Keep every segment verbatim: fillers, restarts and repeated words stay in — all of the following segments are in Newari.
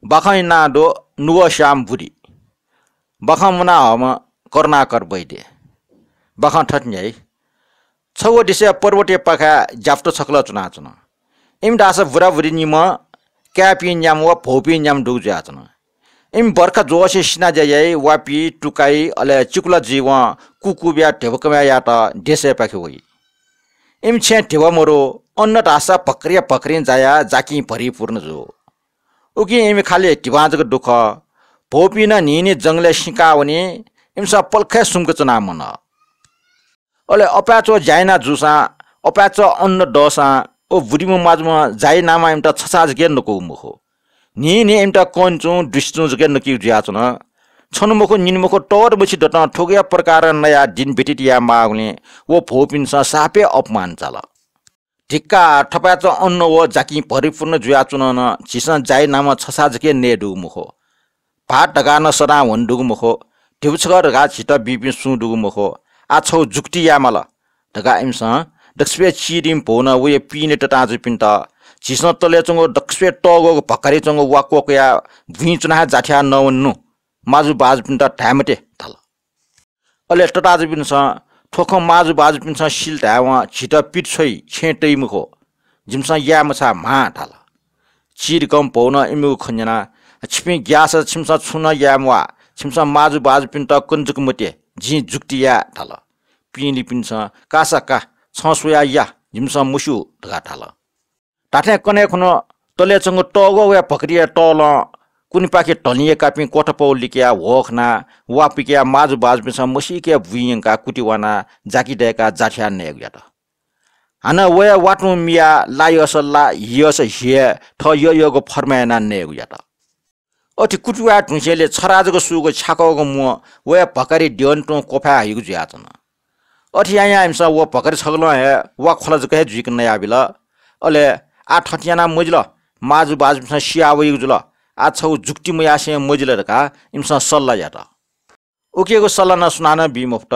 बाखंया नां दु नुगःस्याम्ह बुरी। बाखं मुनाहःम्ह करुणाकर वैद्य। बाखं थथे न्ह्याइ। छगू देशय् पर्वतया पाखाय् ज्यापुत छकलं च्वनाच्वन। इमि धाःसा बुराबुरी निम्ह, काय्‌पिं न्याम्ह व भौपिं न्याम्ह दुगु जुयाच्वन। इमि बर्खा ज्वःसे सिनाज्या याइ, वापी, टुकाइ, अले चिकुला जुइवं कुकुबिया ध्यबा कमय् यायेत देशय् पाखे वइ। इमि छेँय् ध्यबा मरु, अन्न धाःसा भक्रिया भक्रिं जायाः जाकिं भरिपूर्ण जू। उकिं इमि खालि धिबां जक दु खः। भौपिं नं न्हिं न्हिं जंगलय् सिकाः वनी, इमिसं पलख हे सुम्क च्वना मन। अले अपाय्‌च्वः ज्या याना जूसां, अपाय्‌च्वः अन्न दःसां व बुरीम्ह माजुम्ह जाइनामा इमित छछाः जक हे नकूगु मखु। न्हिं न्हिं इमित कन्चुं दुसिचुं जक हे नकीगु जुयाच्वन। छन्हु मखु निन्हु मखु तवत मछि दतं थुगुया प्रकारं नयाः दिन व्यतीत यायेमाःगुलिं व भौपिन्सं साप हे अपमान चाल। धिक्कार, थपाय्‌च्वः अन्न व जाकिं भरिपूर्ण जुयाच्वन नं झीसं जाइनामा छछाः जक हे नये दुगु मखु। भाःत धकाः नं सदां ह्वने दुगु मखु। धिबा छकः धकाः झीत बीपिं सुं दुगु मखु। आः छगू जुक्ति याये माल धकाः इमिसं दक्वसिबय् चिरिम्ह भौनं वया पिने तताःजुपिन्त, झीसं तलय् च्वंगु दक्वसिबय् तःग्वःगु भक्कारिइ च्वंगु वा क्वकयाः बुँइ च्वना हे जाथ्याः नवने नु। माजुबाजुपिन्त धाये मते धाल। अले तताःजुपिन्सं थ्व खँ माजुबाजुपिन्सं सिल धायेवं झीत पित छ्वइ, छेँय् तइ मखु। जिमिसं याये मछाः म्हाः धाल। चिरिकं भौनं इमिगु खँ न्यनाः, छिपिं ग्याःसा छिमिसं छुं नं याये म्वाः, छिमिसं माजुबाजुपिन्त कने जक मते, जिं जुक्ति याये धाल। पिंलिपिन्सं, कासा का, छं स्वयाः या, जिमिसं मस्यू धकाः धाल। धात्थें कन्हय् खुन्हु तलय् च्वंगु तःग्वःगुया भक्कारिया तलं कुनेपाखे धलिंया कापिं क्वथापौ लिकयाः ह्वः खनाः वा पिकयाः माजुबाजुपिन्सं मसीके बुँइ यंकाः कुति वानाः जाकि दय्काः जाथ्याः नयेगु यात। हानं वया वा तुं मियाः ला यःसा ला, हि यःसा हि हे थः यःयःगु फर्माय् यानाः नयेगु यात। अथे कुति वाये धुंसेंलि छरा जक सूगु छ्याकःगु म्वं वया भक्कारिइ द्यःने तुं क्वफाय् हइगु जुयाच्वन। अथे यायां इमिसं व भक्कारि छगलं हे वा ख्वला जक हे जुइक नयाबिल। अले आः थथे यानाः मजिल, माजुबाजुपिन्सं सिया वइगु जुल, आः छगू जुक्ति मयासें मजिल धकाः इमिसं सल्लाह यात। उकियागु सल्लाह नं सुनानं बी मफुत।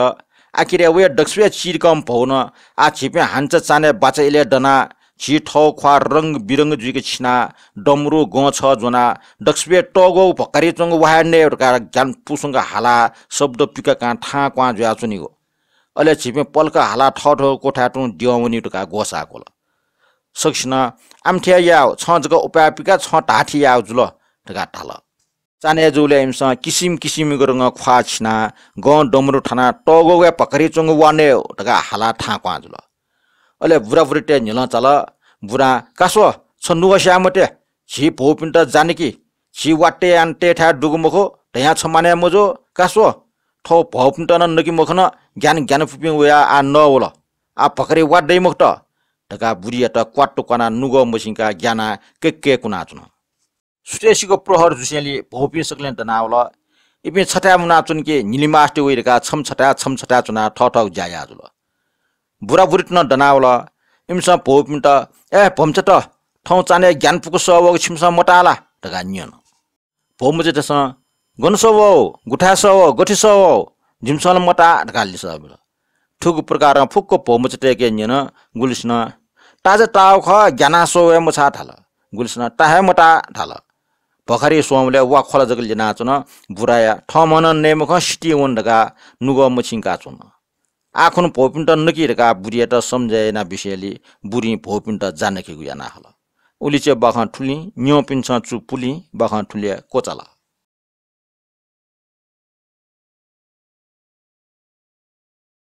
आखिरय् वया दक्वसिबय् चिरिकं भौनं आः झीपिं हान्चा चान्हय् बाचा इलय् दनाः झी थः ख्वाः रंग बिरंग जुइक छिनाः डमरु गं छः ज्वनाः दक्वसिबय् तःग्वःगु भक्कारिइ च्वंगु वा हे नये धकाः ग्यानापुसंक हालाः शब्द पिकाकां थाहां क्वहां जुयाच्वनीगु। अले झीपिं पलख हालाः थःथःगु क्वथाय् तुं द्यं वनीगु धकाः ग्वसाः क्वल। सकसिनं आमथे यायेगु, छं जक उपाय पिका, छं धाःथें यायेगु जुल धकाः धाल। चान्हय् जूबलय् इमिसं किसिम किसिमयागु रंगं ख्वाः छिनाः गं डमरु थानाः तःग्वःगुया भक्कारिइ च्वंगु वा नये धकाः हालाः थाहां क्वहां जुल। अले बुराबुरीतय् न्ह्यलं चाल। बुरां, का स्व, छ नुगः स्याये मते, झी भौपिन्त जा नकि, झी वा तये यानातयेथाय् दुगु मखु धयां छ मानय् मजू, का स्व, थ्व भौपिन्त नं नके मखन, ग्यानाग्यानापुपिं वयाः आः नः वल, आः भक्कारिइ वा दइ मखुत धकाः बुरीयात क्वात्तु क्वानाः नुगः मछिंकाः ग्यानाः कय्कय् कुनाच्वन। सुथय्सिगु प्रहर जुसेंलि भौपिं सकलें दनावल। इपिं छथाय् मुनाच्वन कि न्हिलिमास्ति वइ धकाः छम्ह छथाय् छम्ह छथाय् च्वनाः थःथःगु ज्या याः जुल। बुराबुरीत नं दनावल। इमिसं भौपिन्त, ए भम्चात, थौं चान्हय् ग्यानापुक सः वःगु छिमिसं मताः ला धकाः न्यन। भौमचातय्सं, गन सः वः, गुथाय् सः वः, गथे सः वः, जिमिसं ला मताः धकाः लिसः बिल। थुगु प्रकारं फुक्क भौमचातय्के न्यन। गुलिसिनं, ताःसा ताःगु खः, ग्यानाः सः वये मछाः धाल। गुलिसिनं, ताः हे मताः धाल। भक्कारिइ स्वंबलय् वा ख्वला जक ल्यनाच्वन। बुराया थःम्हं नं नये मखं सितिं वन धकाः नुगः मछिंकाच्वन। आः खुन्हु भौपिन्त नकि धकाः बुरीयात सम्झाय् याना बिसेंलि बुरीं भौपिन्त जा नकेगु याना हल। उलिचे बाखं थुलिं, न्यंपिन्सं चु पुलिं, बाखं थुलिया क्वचाल।